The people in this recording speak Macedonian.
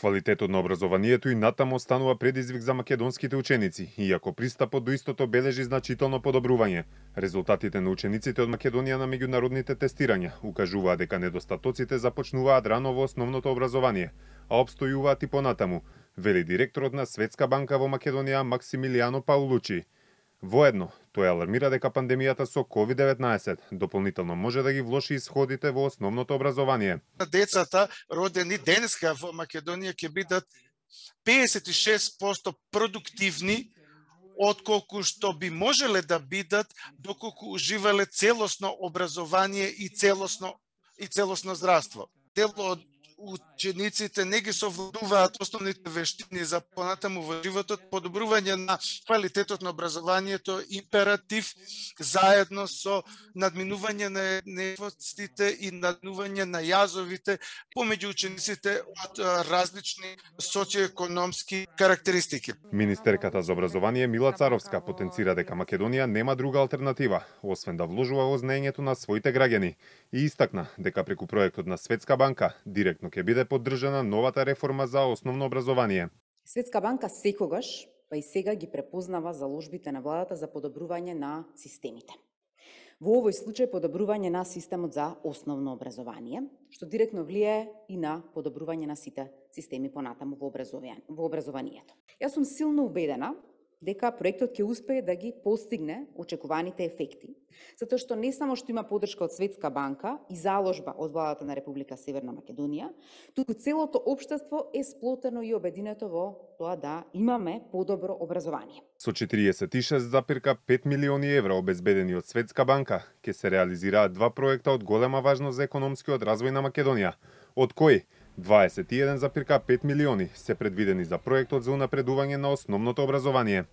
Квалитетот на образованието и натаму останува предизвик за македонските ученици, иако пристапот до истото бележи значително подобрување. Резултатите на учениците од Македонија на меѓународните тестирања укажуваат дека недостатоците започнуваат рано во основното образование, а опстојуваат и понатаму, вели директорот на Светска банка во Македонија Максимилијано Паулучи. Воедно, тој алармира дека пандемијата со COVID-19 дополнително може да ги влоши исходите во основното образование. Децата родени денеска во Македонија ќе бидат 56% продуктивни отколку што би можеле да бидат доколку уживале целосно образование и целосно здравство. Дел од учениците не ги совладуваат основните вештини за понатаму во животот, подобрување на квалитетот на образованието, императив, заедно со надминување на нештите и надминување на јазовите помеѓу учениците од различни социоекономски карактеристики. Министерката за образование Мила Царовска потенцира дека Македонија нема друга алтернатива, освен да вложува во знаењето на своите граѓани, и истакна дека преку проектот на Светска банка директно ќе биде поддржана новата реформа за основно образование. Светска банка секогаш, па и сега ги препознава заложбите на владата за подобрување на системите. Во овој случај подобрување на системот за основно образование, што директно влијае и на подобрување на сите системи понатаму во образованието. Јас сум силно убедена дека проектот ќе успее да ги постигне очекуваните ефекти, затоа што не само што има поддршка од Светска банка и заложба од владата на Република Северна Македонија, туку целото општество е сплотено и обединето во тоа да имаме подобро образование. Со 46,5 милиони евра обезбедени од Светска банка, ќе се реализираат два проекта од голема важност за економскиот развој на Македонија, од кои 21,5 милиони се предвидени за проектот за унапредување на основното образование.